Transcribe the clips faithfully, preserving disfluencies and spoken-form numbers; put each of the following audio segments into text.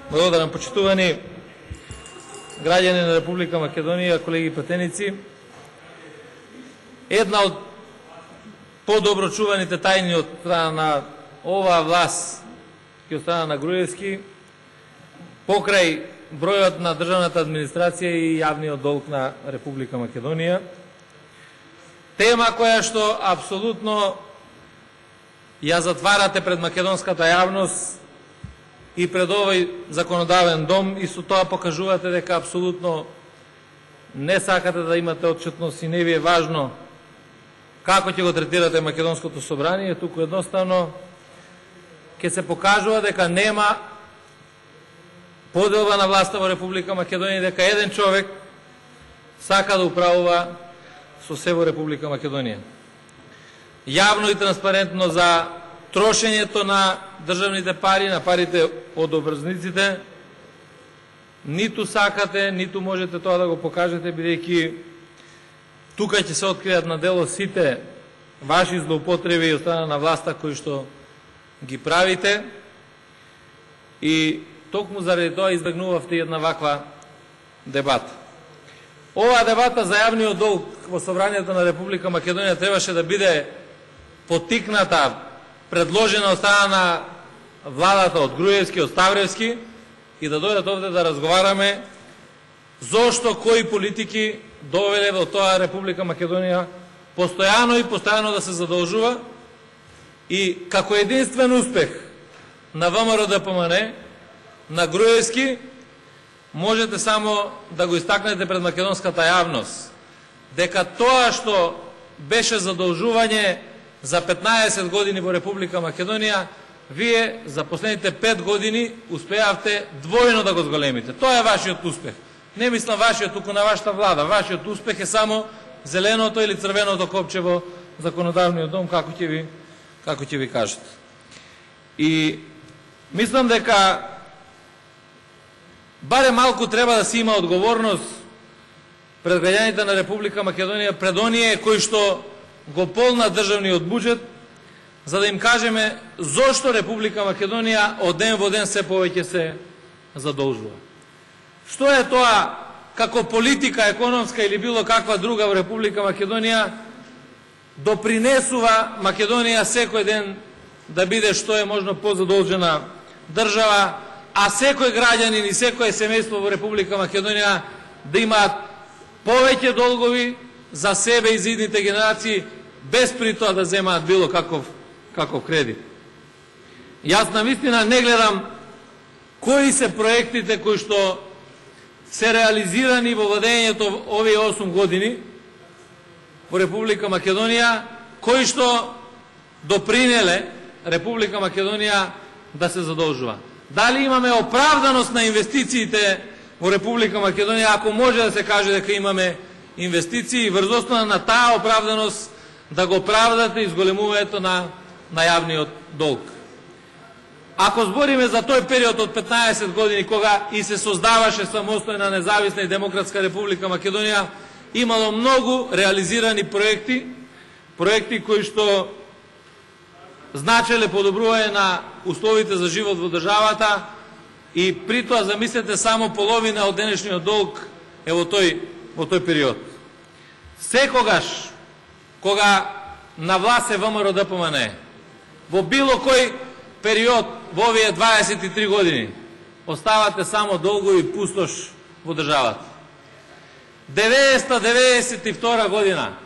Благодарам, почитувани граѓани на Република Македонија, колеги пратеници. Една од подобро чуваните тајни од страна на оваа власт и од страна на Груевски покрај бројот на државната администрација и јавниот долг на Република Македонија. Тема која што апсолутно ја затварате пред македонската јавност и пред овој законодавен дом, и со тоа покажувате дека апсолутно не сакате да имате отчетност и не ви е важно како ќе го третирате македонското собрание, туку едноставно ќе се покажува дека нема поделба на власта во Република Македонија, дека еден човек сака да управува со се во Република Македонија. Јавно и транспарентно за трошењето на државните пари, на парите од обврзниците, ниту сакате, ниту можете тоа да го покажете, бидејќи тука ќе се откријат на дело сите ваши злоупотреби од страна на власта кои што ги правите, и токму заради тоа избегнувавте една ваква дебата. Оваа дебата за јавниот долг во Собранието на Република Македонија требаше да биде поттикната, предложена од страна на владата од Груевски, од Ставревски, и да дојдат овде да разговараме зошто кои политики довеле во тоа Република Македонија постојано и постојано да се задолжува, и како единствен успех на ВМРО-ДПМН, на Груевски, можете само да го истакнете пред македонската јавност дека тоа што беше задолжување за петнаесет години во Република Македонија, вие за последните пет години успеавте двојно да го зголемите. Тоа е вашиот успех. Не мислам вашиот, туку на вашата влада. Вашиот успех е само зеленото или црвеното копче во законодавниот дом, како ќе ви, како ќе ви кажат. И мислам дека баре малку треба да се има одговорност пред граѓаните на Република Македонија, пред оние кои што го полна државниот буџет, за да им кажеме зошто Република Македонија од ден во ден се повеќе се задолжува. Што е тоа како политика економска или било каква друга во Република Македонија допринесува Македонија секој ден да биде што е можно позадолжена држава, а секој граѓанин и секој семејство во Република Македонија да имаат повеќе долгови за себе и за идните генерации, без при тоа да земаат било каков, каков кредит. Јас навистина не гледам кои се проектите кои што се реализирани во владењето овие осум години во Република Македонија, кои што допринеле Република Македонија да се задолжува. Дали имаме оправданост на инвестициите во Република Македонија, ако може да се каже дека имаме инвестиции, врз основа на таа оправданост да го правдате изголемувањето на, на јавниот долг. Ако збориме за тој период од петнаесет години, кога и се создаваше самостојна независна и демократска Република Македонија, имало многу реализирани проекти, проекти кои што значеле подобрување на условите за живот во државата, и при тоа замислете само половина од денешниот долг е во тој, во тој период. Секогаш кога на власт е ВМРО-ДПМН, во било кој период во овие дваесет и три години, оставате само долгови и пустош во државата. деветста деветдесет и втора година,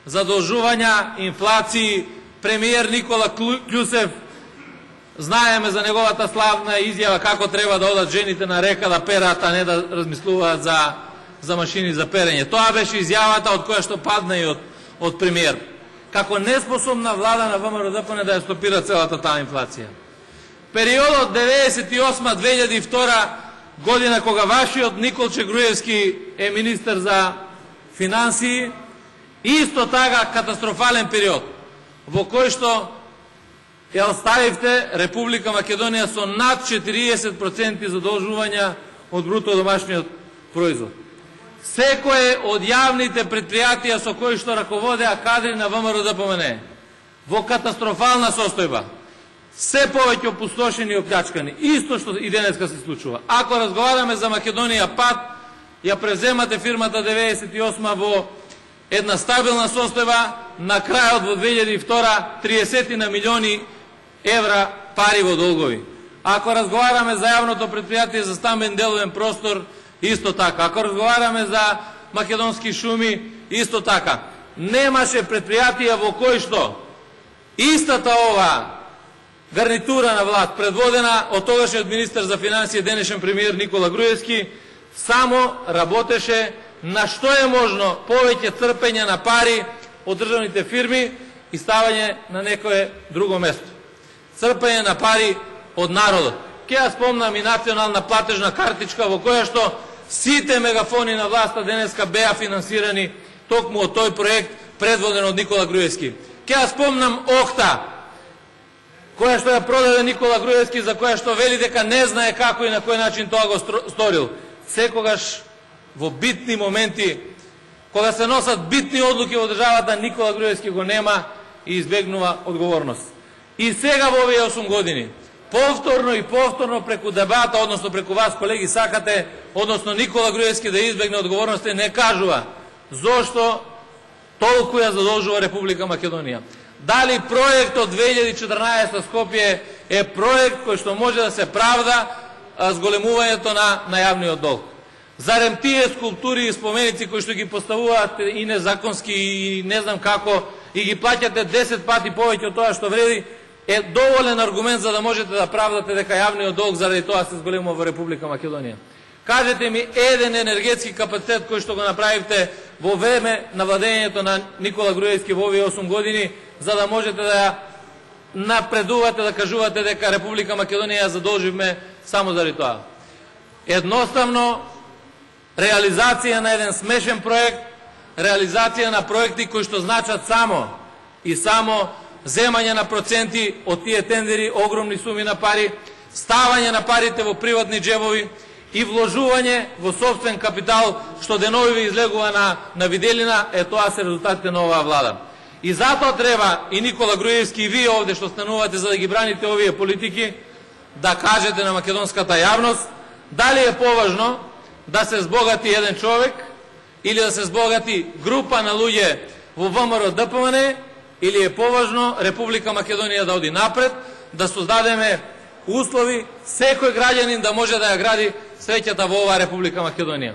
задолжувања, инфлации, премиер Никола Клюсев, знаеме за неговата славна изјава како треба да одат жените на река да перат, а не да размислуваат за, за машини за перење. Тоа беше изјавата од која што падна и од, од премиер. Како неспособна влада на ВМРО-ДПМН да ја стопира целата таа инфлација. Периодот деветдесет и осма до две илјади и втора година, кога вашиот Николче Груевски е министер за финансии, исто така катастрофален период, во кој што ја оставивте Република Македонија со над четириесет проценти задолжувања од бруто домашниот производ. Секое од јавните предпријатија со кои што раководеа кадри на ВМРО-ДПМН во катастрофална состојба. се повеќе опустошени и оплячкани. Исто што и денеска се случува. Ако разговараме за Македонија пат, ја преземате фирмата деветдесет и осма во една стабилна состојба, на крајот во две илјади и втора триесет на милиони евра пари во долгови. Ако разговараме за јавното предпријатие за стамбен деловен простор, исто така. Ако разговараме за македонски шуми, исто така. Немаше предпријатија во кој што истата ова гарнитура на власт, предводена од тогашниот министер за финансии, денешен премиер Никола Груевски, само работеше на што е можно повеќе црпење на пари од државните фирми и ставање на некое друго место. Црпење на пари од народот. Ке ја спомнам и национална платежна картичка во која што сите мегафони на власта денеска беа финансирани токму од тој проект предводен од Никола Груевски. Ке ја спомнам Охта, која што ја продаде Никола Груевски, за која што вели дека не знае како и на кој начин тоа го сторил. Секогаш во битни моменти, кога се носат битни одлуки во државата, Никола Груевски го нема и избегнува одговорност. И сега во овие осум години, повторно и повторно преку дебата, односно преку вас, колеги, сакате, односно Никола Груевски да избегне одговорност, не кажува зошто толку ја задолжува Република Македонија. Дали проектот две илјади и четрнаесетта Скопје е проект кој што може да се правда зголемувањето на, на јавниот долг? Зарем тие скулптури и споменици кои што ги поставуваат и незаконски и не знам како и ги плаќате десет пати повеќе од тоа што вреди, е доволен аргумент за да можете да правдате дека јавниот долг заради тоа се зголемува во Република Македонија? Кажете ми еден енергетски капацитет кој што го направивте во време на владењето на Никола Груевски во овие осум години, за да можете да ја напредувате, да кажувате дека Република Македонија ја задолживме само заради тоа. Едноставно, реализација на еден смешен проект, реализација на проекти кои што значат само и само земање на проценти од тие тендери, огромни суми на пари, ставање на парите во приватни джебови и вложување во собствен капитал, што денови ви излегува на, на виделина, е тоа се резултатите на оваа влада. И затоа треба и Никола Груевски и вие овде што станувате за да ги браните овие политики, да кажете на македонската јавност дали е поважно да се збогати еден човек или да се збогати група на луѓе во ВМРО Д П М Н, или е поважно Република Македонија да оди напред, да создадеме услови секој граѓанин да може да ја гради среќата во оваа Република Македонија.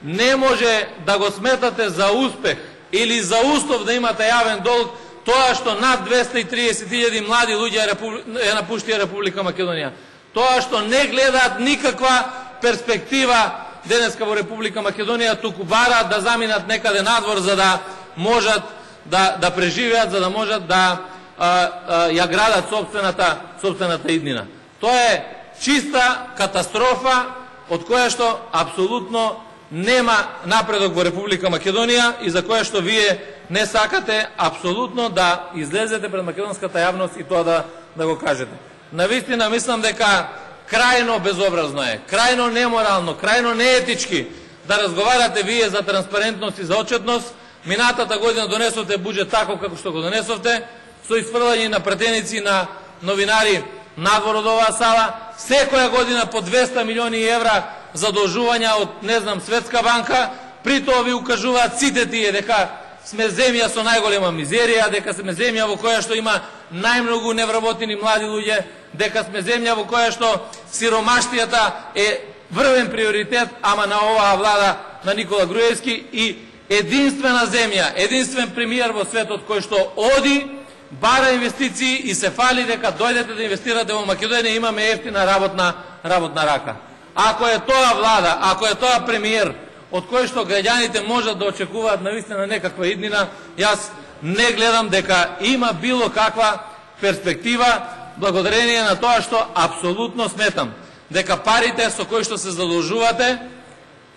Не може да го сметате за успех или за услов да имате јавен долг тоа што над двесте и триесет илјади млади луѓе ја напуштија Република Македонија. Тоа што не гледаат никаква перспектива денеска во Република Македонија, туку бараат да заминат некаде надвор за да можат да, да преживеат, за да можат да а, а, ја градат собствената, собствената иднина. Тоа е чиста катастрофа од која што апсолутно нема напредок во Република Македонија и за која што вие не сакате апсолутно да излезете пред македонската јавност и тоа да, да го кажете. Навистина мислам дека крајно безобразно е, крајно неморално, крајно неетички да разговарате вие за транспарентност и за отчетност. Минатата година донесовте буџет таков како што го донесовте, со изфрлање на пратеници на новинари надвор од оваа сала, секоја година по двесте милиони евра задолжувања од, не знам, Светска банка, при тоа ви укажуваат сите тие дека сме земја со најголема мизерија, дека сме земја во која што има најмногу невработени млади луѓе, дека сме земја во која што сиромаштијата е врвен приоритет, ама на оваа влада на Никола Груевски, и единствена земја, единствен премиер во светот кој што оди, бара инвестиции и се фали дека дојдете да инвестирате во Македонија, имаме ефтина работна, работна рака. Ако е тоа влада, ако е тоа премиер, од кој што граѓаните можат да очекуваат навистина некаква иднина, јас не гледам дека има било каква перспектива, благодарение на тоа што апсолутно сметам дека парите со кои што се задолжувате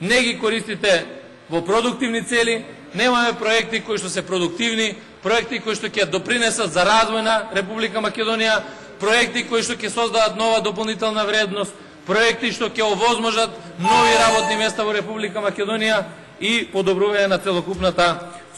не ги користите во продуктивни цели, немаме проекти кои што се продуктивни, проекти кои што ќе допринесат за развој на Република Македонија, проекти кои што ќе создадат нова дополнителна вредност, проекти што ќе овозможат нови работни места во Република Македонија и подобрување на целокупната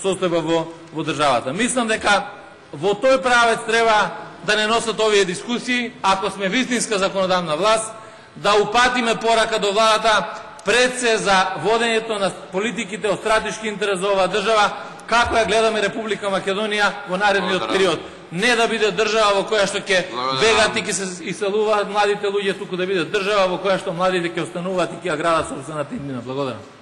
состојба во, во државата. Мислам дека во тој правец треба да не носат овие дискусии, ако сме вистинска законодавна власт, да упатиме порака до владата пред се за водењето на политиките од стратешки интерес за оваа држава, како ја гледаме Република Македонија во наредниот период. Не да биде држава во која што ќе бегат и ќе се иселуваат младите луѓе, туку да биде држава во која што младите ќе остануваат и ќе ја градат собствената иднина. Благодарам.